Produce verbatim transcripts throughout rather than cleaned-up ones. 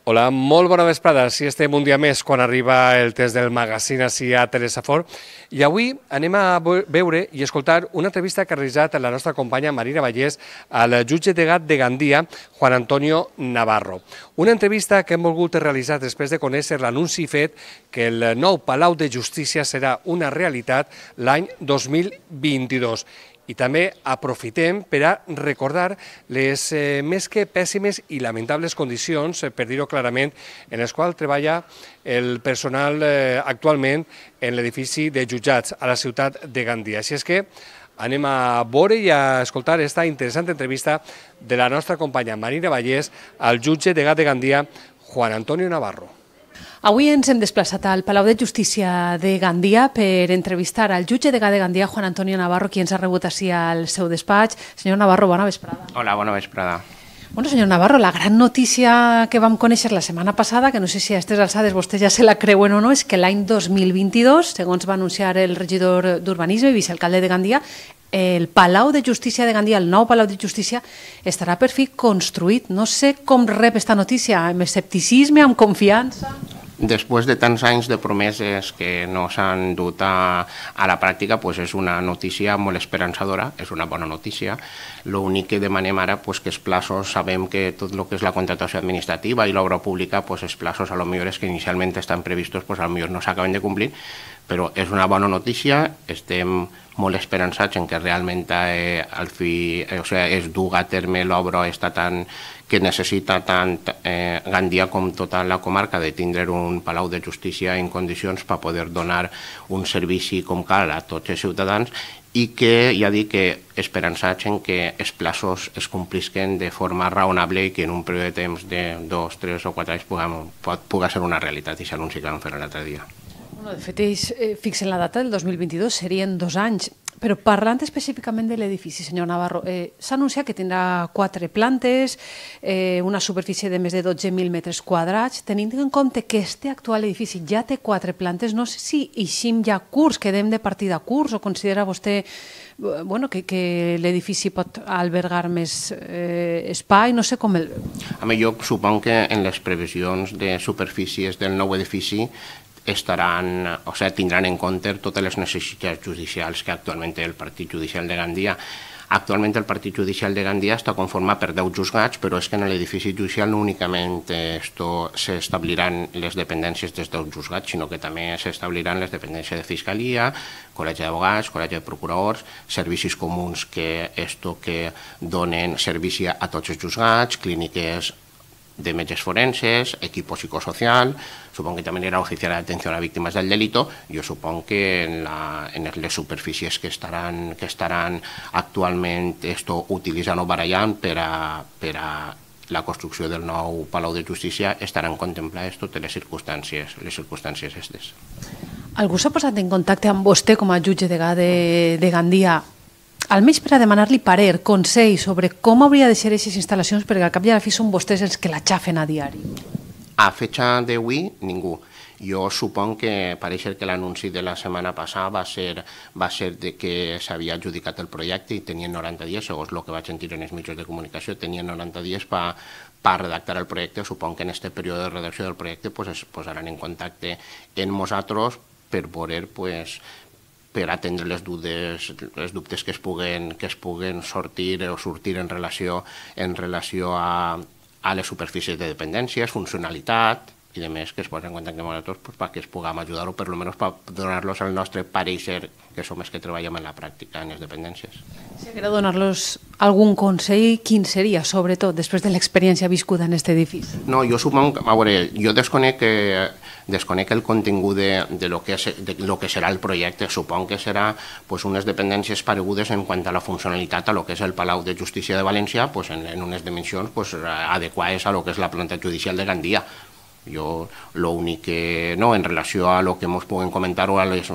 Hola, molt bona vesprada. Si estem un dia més quan arriba el test del magazine ací a Teresa Fort. I avui anem a veure i escoltar una entrevista que ha realitzat la nostra companya Marina Vallès al jutge delegat de Gandia, Juan Antonio Navarro. Una entrevista que hem volgut realitzar després de conèixer l'anunci fet que el nou Palau de Justícia serà una realitat l'any dos mil vint-i-dos. I també aprofitem per a recordar les eh, més que pèssimes i lamentables condicions, eh, per dir-ho clarament, en les quals treballa el personal eh, actualment en l'edifici de jutjats a la ciutat de Gandia. Així és que anem a veure i a escoltar esta interessant entrevista de la nostra companya Marina Vallès al jutge delegat de Gandia, Juan Antonio Navarro. Avui ens hem desplaçat al Palau de Justícia de Gandia per entrevistar al jutge delegat de Gandia, Juan Antonio Navarro, qui ens ha rebut així al seu despatx. Senyor Navarro, bona vesprada. Hola, bona vesprada. Bueno, senyor Navarro, la gran notícia que vam conèixer la setmana passada, que no sé si a aquestes alçades vostès ja se la creuen o no, és que l'any dos mil vint-i-dos, segons va anunciar el regidor d'Urbanisme i vicealcalde de Gandia, el Palau de Justícia de Gandia, el nou Palau de Justícia, estarà per fi construït. No sé com rep esta notícia, amb escepticisme, amb confiança... Després de tants anys de promeses que no s'han dut a, a la pràctica, pues és una notícia molt esperançadora, és una bona notícia. L'únic que demanem ara, pues, que els plaços, sabem que tot el que és la contractació administrativa i l'obra pública, pues, els plaços a lo millor és que inicialment estan previstos, pues, a lo millor no s'acaben de complir, però és una bona notícia, estem molt esperançats en que realment eh, al fi, eh, o sigui, es duga a terme l'obra està tan que necessita tant eh, Gandia com tota la comarca de tindre un Palau de Justícia en condicions per poder donar un servici com cal a tots els ciutadans i que, ja dic, que esperançats en que els plaços es complisquen de forma raonable i que en un període de temps de dos, tres o quatre anys pugui ser una realitat i s'anunci que vam fer l'altre dia. Bueno, de fet, ells eh, fixen la data del dos mil vint-i-dos, serien dos anys. Però parlant específicament de l'edifici, senyor Navarro, eh, s'ha anunciat que tindrà quatre plantes, eh, una superfície de més de dotze mil metres quadrats. Tenint en compte que este actual edifici ja té quatre plantes, no sé si eixim ja curs, quedem de partida curs, o considera vostè bueno, que, que l'edifici pot albergar més eh, espai, no sé com el... A mi jo suponc que en les previsions de superfícies del nou edifici estaran, o sigui, tindran en compte totes les necessitats judicials que actualment té el Partit Judicial de Gandia. Actualment el Partit Judicial de Gandia està conformat per deu juzgats, però és que en l'edifici judicial no únicament s'establiran les dependències dels deu juzgats, sinó que també s'establiran les dependències de Fiscalia, Col·legi d'Advocats, Col·legi de Procuradors, servicis comuns que, esto que donen servici a tots els juzgats, clíniques de metges forenses, equipo psicosocial, supongo que también era oficial de atención a víctimas del delito. Yo supongo que en, la, en les superfícies que estaran, que estaran actualment esto utilitzant o barallant per a, per a la construcció del nou Palau de Justícia estaran contemplades totes les circumstàncies, les circumstàncies estes. Algú s'ha posat en contacte amb vostè com a jutge degà de, de Gandia, almenys per a demanar-li parer, consell sobre com hauria de ser aquestes instal·lacions, perquè al cap i a la fi són vostès els que la xafen a diari? A fecha d'avui, ningú. Jo suponc que pareix que l'anunci de la setmana passada va ser, va ser de que s'havia adjudicat el projecte i tenien noranta dies, segons el que vaig sentir en els mitjans de comunicació, tenien noranta dies per per redactar el projecte. Suponc que en aquest període de redacció del projecte pues, es posaran en contacte amb nosaltres per poder pues, per atendre les dubtes, les dubtes que es puguen, que es puguen sortir o sortir en relació, en relació a, a les superfícies de dependències, funcionalitat i de més que es posen en contacte amb nosaltres pues, perquè es puguem ajudar o per almenys per donar-los el nostre pareixer, que som els que treballem en la pràctica en les dependències. Si haguera donar-los algun consell, quin seria, sobretot, després de l'experiència viscuda en aquest edifici? No, jo suponc, a veure, jo desconec, que, desconec el contingut de, de, lo que és, de lo que serà el projecte. Suponc que serà pues, unes dependències paregudes en quant a la funcionalitat a lo que és el Palau de Justícia de València, pues, en, en unes dimensions pues, adequades a lo que és la planta judicial de Gandia. Jo, l'únic que, no, en relació a lo que ens puguem comentar o a les,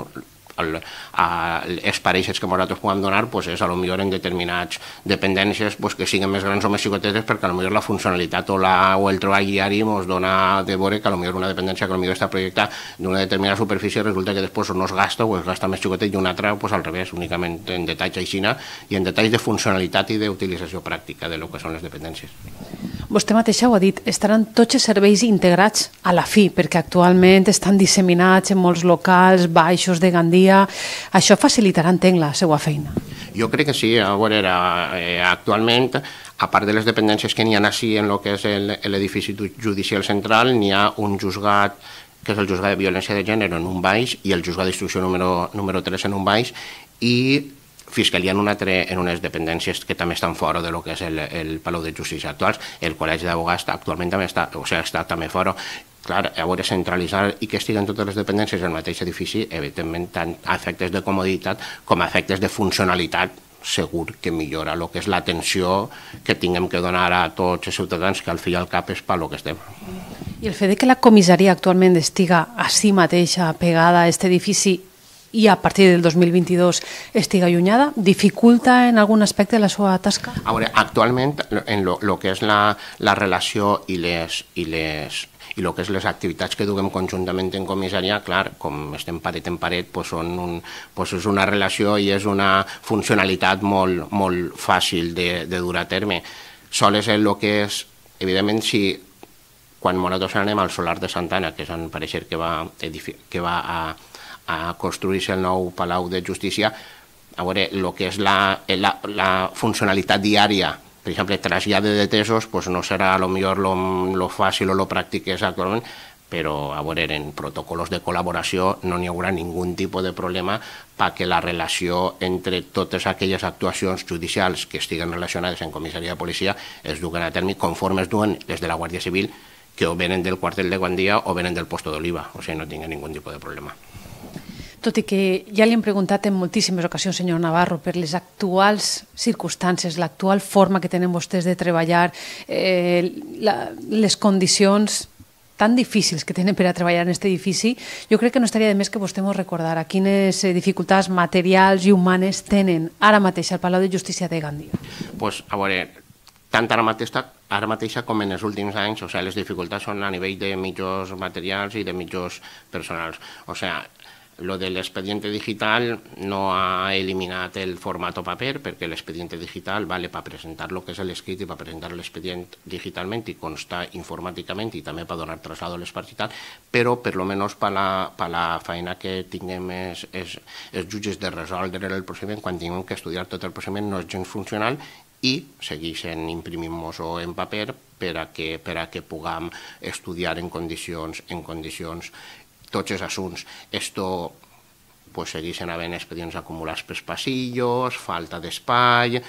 el, a els pareixes que nosaltres puguem donar pues és a lo millor en determinats dependències pues, que siguin més grans o més xicotetes perquè a lo millor la funcionalitat o, la, o el treball diari ens dona de veure que a lo millor una dependència que a lo millor està projectada d'una determinada superfície resulta que després no es gasta o es gasta més xicotet i una altra pues, al revés, únicament en detalls aixina i en detalls de funcionalitat i d'utilització pràctica de lo que són les dependències. Vostè mateixa ho ha dit, estaran tots els serveis integrats a la fi, perquè actualment estan disseminats en molts locals baixos de Gandia. Això facilitarà, entenc, la seva feina. Jo crec que sí. A veure, eh, actualment, a part de les dependències que n'hi ha així en el que és l'edifici judicial central, n'hi ha un juzgat, que és el juzgat de violència de gènere en un baix i el juzgat d'instrucció número, número tres en un baix, i Fiscalia en, una altre, en unes dependències que també estan fora de lo que és el, el Palau de Justícia actuals. El Col·legi d'Advocats actualment també està, o sigui, està també fora. Clar, a veure, centralitzar i que estiguen totes les dependències al mateix edifici, evidentment, tant a efectes de comoditat com a efectes de funcionalitat, segur que millora el que és l'atenció que tinguem que donar a tots els ciutadans, que al fi i al cap és per lo que estem. I el fet de que la comissaria actualment estiga a si mateixa pegada a aquest edifici i a partir del dos mil vint-i-dos estiga allunyada, dificulta en algun aspecte la seva tasca? A veure, actualment, en lo, lo que és la, la relació i les, i les i el que és les activitats que duguem conjuntament en comissaria, clar, com estem paret en paret, doncs són un, doncs és una relació i és una funcionalitat molt, molt fàcil de, de dur a terme. Sol és el que és, evidentment, si quan nosaltres anem al Solar de Santana, que és on pareixer que va, que va a, a construir-se el nou Palau de Justícia, a veure, el que és la, la, la funcionalitat diària, per exemple, trasllat de detesos, doncs no serà a lo millor lo, lo fàcil o lo pràctic que és actualment, però a veure, en protocols de col·laboració no n'hi haurà ningú tipus de problema perquè la relació entre totes aquelles actuacions judicials que estiguen relacionades en comissaria de policia es duguen a terme conforme es duen les de la Guàrdia Civil, que o venen del quartel de Gandia o venen del Posto d'Oliva, o sigui, no tinguen ningú tipus de problema. Tot i que ja li hem preguntat en moltíssimes ocasions, senyor Navarro, per les actuals circumstàncies, l'actual forma que tenen vostès de treballar, eh, la, les condicions tan difícils que tenen per a treballar en aquest edifici, jo crec que no estaria de més que vostè ens recordara quines dificultats materials i humanes tenen ara mateix al Palau de Justícia de Gandia. Pues, a veure, tant ara mateix, ara mateixa com en els últims anys, o sigui, les dificultats són a nivell de mitjans materials i de mitjans personals. O sigui, lo de l'expediente digital no ha eliminat el formato paper, perquè l'expediente digital vale per presentar lo que és l'escrit i per presentar l'expedient digitalment i constar informàticament i també per donar traslado a les parts i tal, però per lo menos per la, per la feina que tinguem els, els, els jutges de resoldre el procediment, quan tinguem que estudiar tot el procediment no és gens funcional i segueixen imprimint-nos en paper per a que, per a que puguem estudiar en condicions, en condicions tots els assunts. Esto pues, segueixen havent expedients acumulats pels passillos, falta d'espai,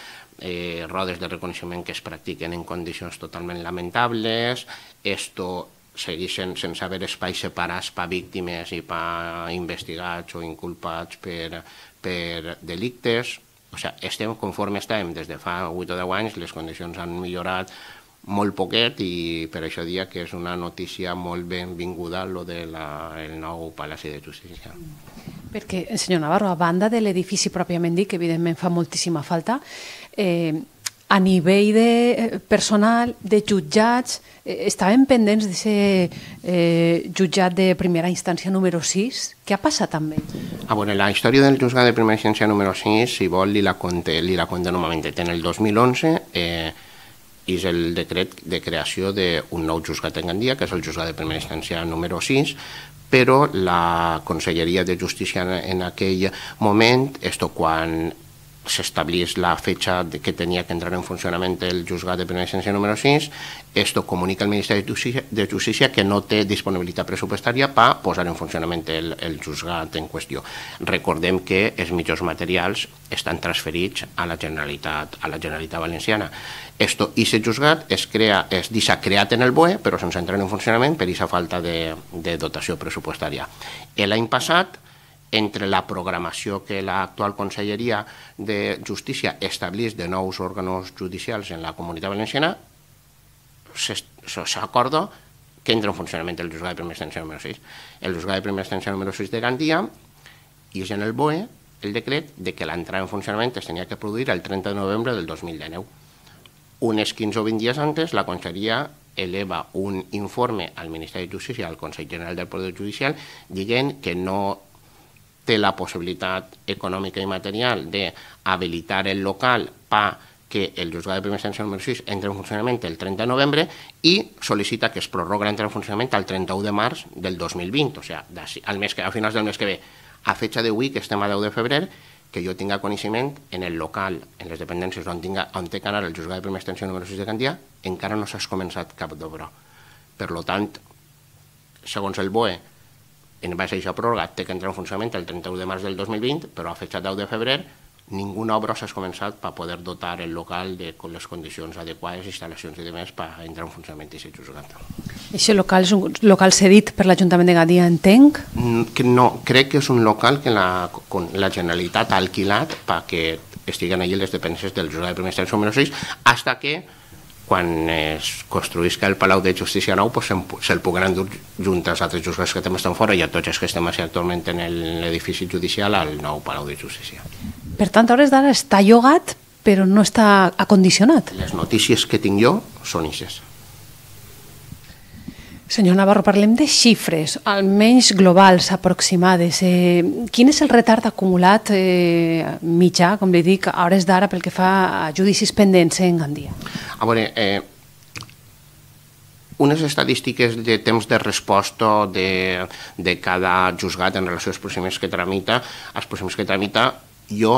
eh, rodes de reconeixement que es practiquen en condicions totalment lamentables, esto segueixen sense haver espais separats per víctimes i per investigats o inculpats per, per delictes. O sigui, estem conforme estem des de fa vuit o deu anys, les condicions han millorat molt poquet i per això dia que és una notícia molt benvinguda lo del nou Palaci de Justícia. Perquè, senyor Navarro, a banda de l'edifici pròpiament dit, que evidentment fa moltíssima falta, eh, a nivell de personal, de jutjats, eh, estaven pendents d'aquest eh, jutjat de primera instància número sis. Què ha passat amb ell? Ah, bueno, la història del jutjat de primera instància número sis, si vol, li la conté, li la conté normalment. En el dos mil onze eh, és el decret de creació d'un nou juzgat en Gandia, que és el juzgat de primera instància número sis, però la Conselleria de Justícia en aquell moment, esto quan s'establís la fecha que tenia que entrar en funcionament el juzgat de primera instància número sis, esto comunica al Ministeri de Justícia que no té disponibilitat pressupostària per posar en funcionament el, el juzgat en qüestió. Recordem que els mitjans materials estan transferits a la Generalitat, a la Generalitat Valenciana. Esto, i aquest juzgat es crea, es deixa creat en el B O E, però sense entrar en funcionament per aquesta falta de, de dotació pressupostària. L'any passat, entre la programació que l'actual Conselleria de Justícia establís de nous òrgans judicials en la Comunitat Valenciana, s'acorda que entra en funcionament el juzgat de primera instància número sis. El juzgat de primera instància número sis de Gandia i és en el B O E el decret de que l'entrada en funcionament es tenia que produir el trenta de novembre del dos mil dinou. Unes quinze o vint dies antes, la Conselleria eleva un informe al Ministeri de Justícia, al Consell General del Poder Judicial, dient que no té la possibilitat econòmica i material d'habilitar el local per que el juzgat de primera instància número sis entra en funcionament el trenta de novembre i sol·licita que es prorroga l'entrada en funcionament al trenta-u de març del dos mil vint, o sigui, al mes que, a finals del mes que ve. A fecha d'avui, que estem a deu de febrer, que jo tinga coneixement en el local, en les dependències on, tinga, on té que anar el juzgat de primera instància número sis de Gandia, encara no s'ha començat cap d'obra. Per tant, segons el B O E, en base a aquesta pròrroga, té que entrar en funcionament el trenta-u de març del dos mil vint, però a fecha deu de febrer ninguna obra s'ha començat per poder dotar el local de les condicions adequades, instal·lacions i demés per entrar en funcionament i ser juzgat. Aquest local és un local cedit per l'Ajuntament de Gandia, entenc? No, crec que és un local que la, la Generalitat ha alquilat perquè estiguen allí les dependències del juzgat de primera instància número sis, fins que quan es construïsca el Palau de Justícia nou pues se'l puguen endur junt als altres juzgats que també estan fora i a tots els que estem actualment en l'edifici judicial al nou Palau de Justícia. Per tant, a hores d'ara està llogat, però no està acondicionat. Les notícies que tinc jo són ixes. Senyor Navarro, parlem de xifres, almenys globals, aproximades. Eh, quin és el retard acumulat eh, mitjà, com li dic, a hores d'ara pel que fa a judicis pendents en Gandia? A veure, eh, unes estadístiques de temps de resposta de, de cada juzgat en relació als procediments que tramita, als procediments que tramita jo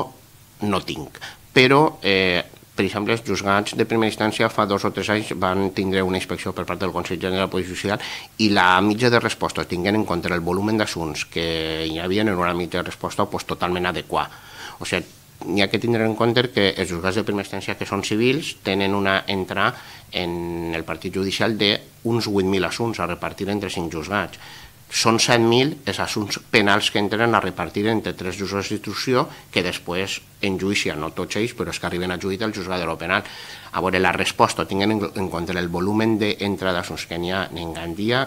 no tinc, però eh, per exemple, els juzgats de primera instància fa dos o tres anys van tindre una inspecció per part del Consell General de la Policia Judicial i la mitja de resposta, tinguent en compte el volum d'assumptes que hi havia, en una mitja de resposta pues, totalment adequada. O sigui, n'hi ha que tindre en compte que els juzgats de primera instància que són civils tenen una entrada en el partit judicial d'uns vuit mil assumptes a repartir entre cinc juzgats. Són set mil els assumptes penals que entren a repartir entre tres juzgats d'instrucció que després en judici, no tots ells, però és que arriben a judici al juzgat de lo penal. A veure, la resposta, tinguent en compte el volum d'entrada d'assumptes que n'hi ha en Gandia,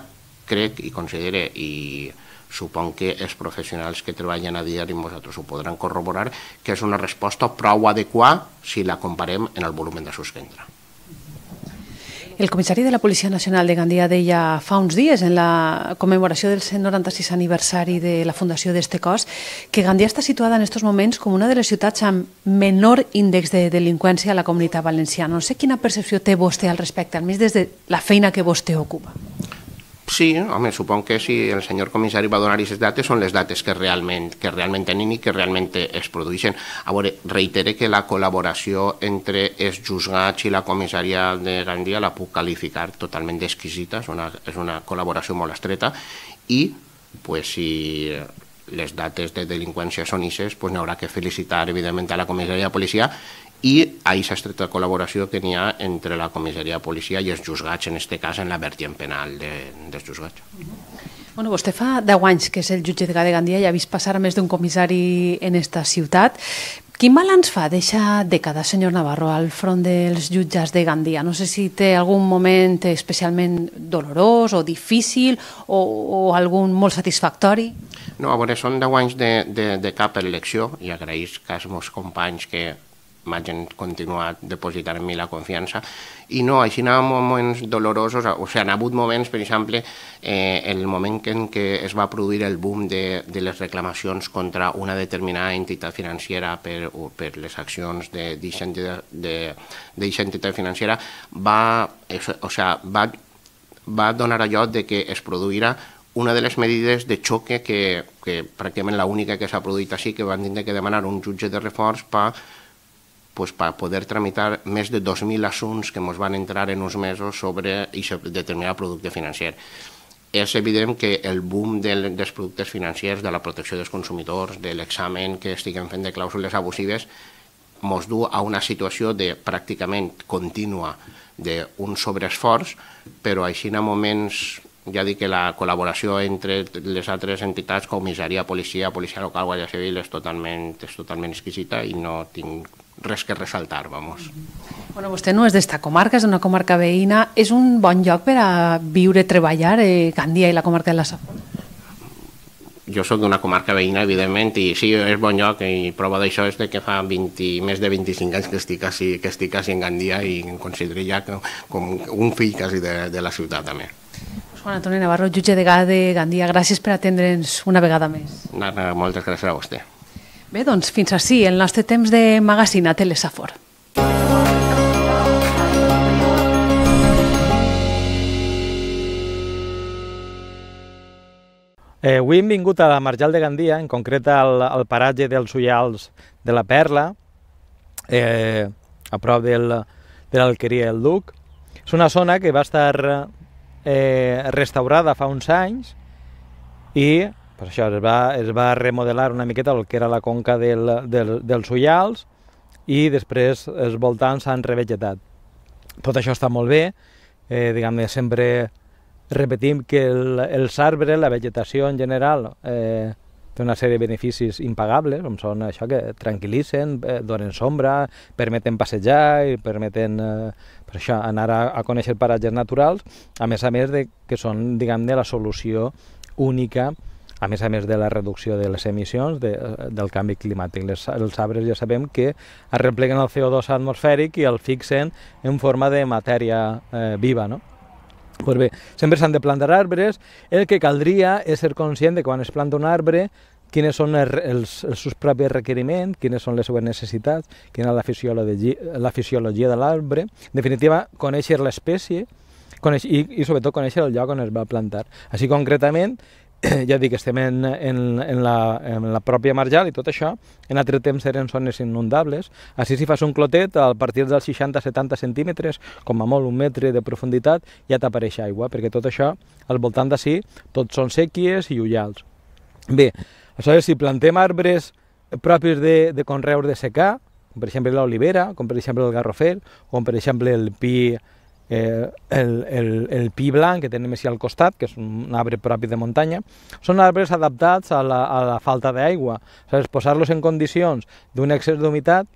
crec i considere, i supon que els professionals que treballen a diari amb vosaltres ho podran corroborar, que és una resposta prou adequada si la comparem en el volum d'assumptes que entra. El comissari de la Policia Nacional de Gandia deia fa uns dies, en la commemoració del cent noranta-sis aniversari de la fundació d'este cos, que Gandia està situada en aquests moments com una de les ciutats amb menor índex de delinqüència a la Comunitat Valenciana. No sé quina percepció té vostè al respecte, almenys des de la feina que vostè ocupa. Sí, home, supon que si el senyor comissari va donar aquestes dates són les dates que realment, que realment tenim i que realment es produeixen. A veure, reitere que la col·laboració entre els juzgats i la comissària de Gandia la puc qualificar totalment d'exquisita, és una, és una col·laboració molt estreta i pues, si les dates de delinqüència són ixes, pues, n'haurà que felicitar evidentment a la comissària de policia i a aquesta estreta col·laboració que n'hi ha entre la comissaria de policia i els juzgats, en aquest cas en la vertiente penal de, dels juzgats. Bueno, vostè fa deu anys que és el jutge de Gandia i ha vist passar a més d'un comissari en esta ciutat. Quin balanç fa d'aquesta dècada, senyor Navarro, al front dels jutges de Gandia? No sé si té algun moment especialment dolorós o difícil o, o algun molt satisfactori. No, a veure, són deu anys de, de, de cap elecció i agraïs als meus companys que m'hagin continuat depositant en mi la confiança. I no, així n'hi ha moments dolorosos, o sigui, han hagut moments, per exemple, eh, el moment en què es va produir el boom de, de les reclamacions contra una determinada entitat financera per, per les accions d'aquesta entitat, de, entitat financera, va, o sigui, va, va donar allò de que es produirà una de les medides de xoque que, que pràcticament l'única que s'ha produït així, que van tindre que demanar un jutge de reforç per pues, per poder tramitar més de dos mil assumptes que ens van entrar en uns mesos sobre aquest determinat producte financer. És evident que el boom del, dels productes financers, de la protecció dels consumidors, de l'examen que estiguem fent de clàusules abusives, ens du a una situació de pràcticament contínua d'un sobreesforç, però així en moments, ja dic que la col·laboració entre les altres entitats, comissaria, policia, policia local, guàrdia civil, és totalment, és totalment exquisita i no tinc res que ressaltar, vamos. Bueno, vostè no és d'esta comarca, és d'una comarca veïna. És un bon lloc per a viure, treballar, eh, Gandia i la comarca de la Safor? Jo soc d'una comarca veïna, evidentment, i sí, és bon lloc, i prova d'això és que fa vint, més de vint-i-cinc anys que estic així, que estic així en Gandia i em considero ja com un fill quasi de, de la ciutat, també. Juan Antoni Navarro, jutge de Gandia, gràcies per atendre'ns una vegada més. Moltes gràcies a vostè. Bé, doncs fins ací el nostre temps de magazine a Telesafor. Eh, avui hem vingut a la Marjal de Gandia, en concret al, al paratge dels Ullals de la Perla, eh, a prop del, de l'Alqueria del Duc. És una zona que va estar eh, restaurada fa uns anys i pues això, es, va, es va remodelar una miqueta el que era la conca del, del, dels Ullals i després els voltants s'han revegetat. Tot això està molt bé, eh, diguem-ne, sempre repetim que el, els arbres, la vegetació en general, eh, té una sèrie de beneficis impagables, com són això que tranquil·litzen, eh, donen sombra, permeten passejar i permeten eh, per això, anar a, a conèixer paratges naturals, a més a més de que són, diguem-ne, la solució única, a més a més de la reducció de les emissions de, del canvi climàtic. Les, els arbres ja sabem que arrepleguen el C O dos atmosfèric i el fixen en forma de matèria eh, viva, no? Pues bé, sempre s'han de plantar arbres. El que caldria és ser conscient de quan es planta un arbre quines són els, els, els seus propis requeriments, quines són les seves necessitats, quina és la fisiologia, la fisiologia de l'arbre. En definitiva, conèixer l'espècie i, i sobretot conèixer el lloc on es va plantar. Així concretament, ja dic, estem en, en, en, la, en la pròpia marjal i tot això, en altre temps eren zones inundables. Així si fas un clotet, a partir dels seixanta a setanta centímetres, com a molt un metre de profunditat, ja t'apareix aigua, perquè tot això, al voltant d'ací, tots són sèquies i ullals. Bé, aleshores, si plantem arbres propis de, de conreus de secà, com per exemple l'olivera, com per exemple el garrofer, com per exemple el pi, Eh, el, el, el pi blanc que tenim així al costat, que és un arbre propi de muntanya, són arbres adaptats a la, a la falta d'aigua. Posar-los en condicions d'un excés d'humitat,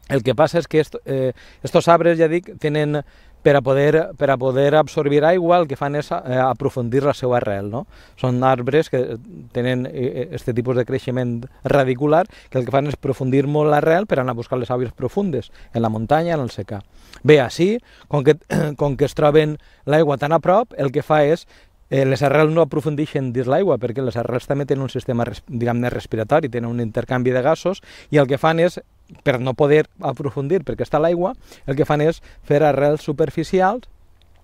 el que passa és que estos eh, arbres, ja dic, tenen, per a, poder, per a poder absorbir aigua, el que fan és eh, aprofundir la seva arrel, no? Són arbres que tenen aquest tipus de creixement radicular, que el que fan és aprofundir molt l'arrel per anar a buscar les aigües profundes, en la muntanya, en el secà. Bé, així, com que, com que es troben l'aigua tan a prop, el que fa és eh, les arrels no aprofundeixen dins l'aigua, perquè les arrels també tenen un sistema, diguem-ne, respiratori, tenen un intercanvi de gasos, i el que fan és, per no poder aprofundir perquè està l'aigua, el que fan és fer arrels superficials,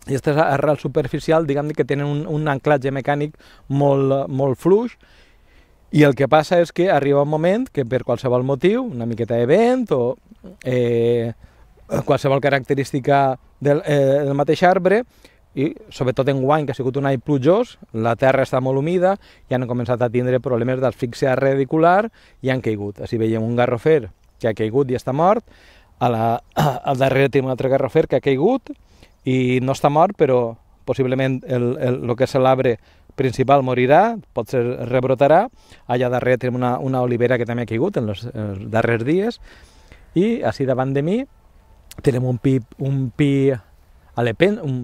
i aquestes arrels superficials, diguem-ne, que tenen un, un anclatge mecànic molt, molt fluix, i el que passa és que arriba un moment que per qualsevol motiu, una miqueta de vent o eh, qualsevol característica del, eh, del mateix arbre, i sobretot en guany, que ha sigut un any plujós, la terra està molt humida i han començat a tindre problemes d'asfíxia radicular i han caigut. Així veiem un garrofer que ha caigut i està mort, a la, al darrere tenim un altre garrofer que ha caigut i no està mort, però possiblement el, el, el que és l'arbre principal morirà, potser rebrotarà. Allà darrere tenim una, una olivera que també ha caigut en els, en els darrers dies, i així davant de mi tenim un pi, un pi alepen, un,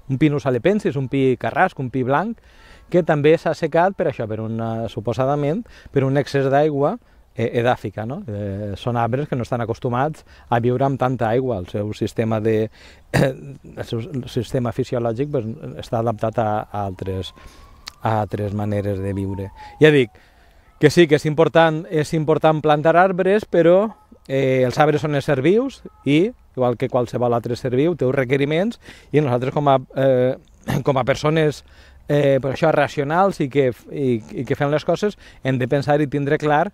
un pinus alepensis, un pi carrasc, un pi blanc, que també s'ha assecat per això, per una, suposadament, per un excés d'aigua eh, edàfica, no? Eh, són arbres que no estan acostumats a viure amb tanta aigua. El seu sistema, de, eh, el seu sistema fisiològic pues, està adaptat a, a, altres, a altres maneres de viure. Ja dic que sí, que és important, és important plantar arbres, però eh, els arbres són éssers vius i, igual que qualsevol altre ser viu, té uns requeriments, i nosaltres com a, eh, com a persones eh, per això racionals i que, i, i que fem les coses, hem de pensar i tindre clar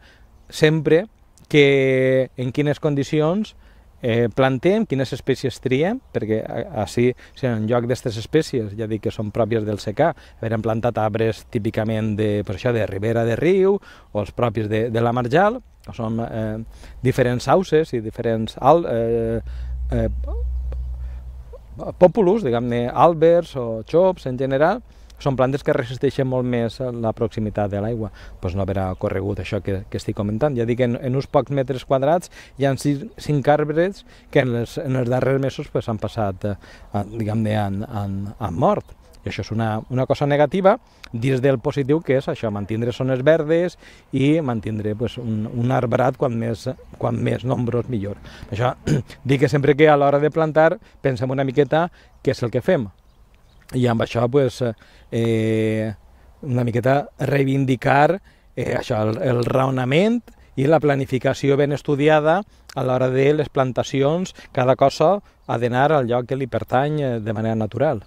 sempre que en quines condicions eh, plantem, quines espècies triem, perquè així, si en lloc d'aquestes espècies, ja dic que són pròpies del secà, haurem plantat arbres típicament de, per això, de ribera de riu, o els propis de, de la marjal, o són eh, diferents sauces i diferents al, eh, eh, pòpulus, diguem-ne, àlbers o xops en general, són plantes que resisteixen molt més a la proximitat de l'aigua. Doncs no haurà corregut això que, que estic comentant. Ja dic que en, en uns pocs metres quadrats hi ha cinc arbres que en, les, en els darrers mesos pues, han passat, eh, diguem-ne, han, han, han mort. I això és una, una cosa negativa dins del positiu, que és això, mantindre zones verdes i mantindre pues, un, un arbrat quan més, quan més nombrós millor. Això dic que sempre que a l'hora de plantar pensem una miqueta què és el que fem. I amb això pues, eh, una miqueta reivindicar eh, això, el, el raonament i la planificació ben estudiada a l'hora de les plantacions. Cada cosa ha d'anar al lloc que li pertany de manera natural.